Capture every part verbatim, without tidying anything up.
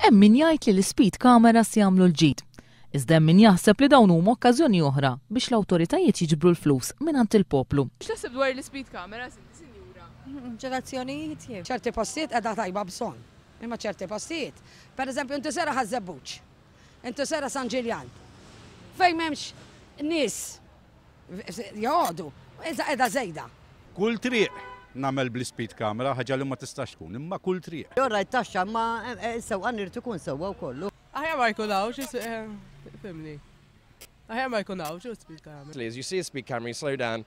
Hemm min jgħid li l-speed cameras jagħmlu l-ġid. Iżda hemm min jaħseb li dawn huma okkażjoni oħra biex l-awtoritajiet jiġbru l-flus mingħand il-poplu. X'taħseb dwar l-speed cameras inti, sinjura? Ġerazzjonijiet jien. ċerti postijiet qiegħda tajba bżonn. Imma ċerti postijiet. Per eżempju, inti sejra Ħaż-Żebbuġ. Inti sejra San Ġiljan. Fejn m'hemmx nies joqogħdu, iżda qiegħda żejda. Kull triq nagħmel bl-speed camera, ħaġa li ma tistax tkun, imma kull triq. Jorra t-taxxa ma sewqan irid ikun sewwa wkollu. Aħjar ma jkun hawn, fhimtni. Aħjar ma jkun hawn, speed camera. As you see a speed camera, you slow down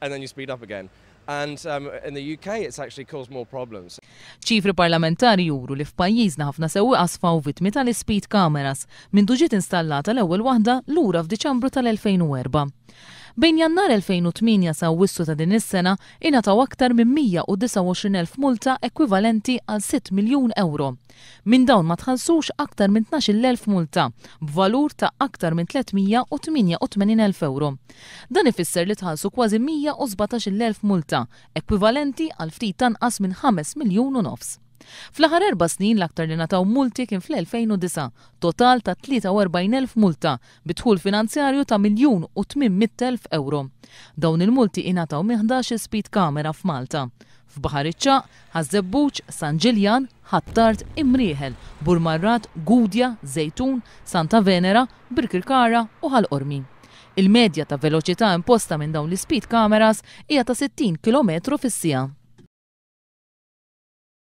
and then you speed up again. And um, in the U K, it's actually caused more problems. Ċifri parlamentari juru li f'pajjiżna ħafna sewwieqa sfaw vittmi tal-speed cameras mindu ġiet installata l-ewwel waħda lura f'Diċembru tal-elfejn u erbgħa. Bejn Jannar elfejn u tmienja sa Awwissu ta' din is-sena ingħataw aktar minn mija u disgħa u għoxrin elf multa ekwivalenti għal sitt miljun euro. Minn dawn ma tħallsux aktar minn tnax-il elf multa b'valur ta' aktar minn tliet mija u tmienja u tmenin elf euro. Dan ifisser li tħallsu kważi mija u sbatax-il elf multa ekwivalenti għal ftit anqas minn ħames miljun u nofs. Fl-aħħar erba' snin l-aktar li ngħataw multi kien fl-elfejn u disgħa, total ta' tlieta u erbgħin elf multa bi dħul finanzjarju ta' miljun u tmien mitt elf euro. Dawn il-multi ingħataw minn ħdax speed camera f'Malta. F'Baħar iċ-Ċagħaq, Ħaż-Żebbuġ, San Ġiljan, Ħ'Attard, Imrieħel, Burmarrad, Gudja, Żejtun, Santa Venera, Birkirkara u Ħal Qormi. Il-medja ta' veloċità imposta minn dawn l-speed cameras hija ta' sittin kilometru fis-siegħa.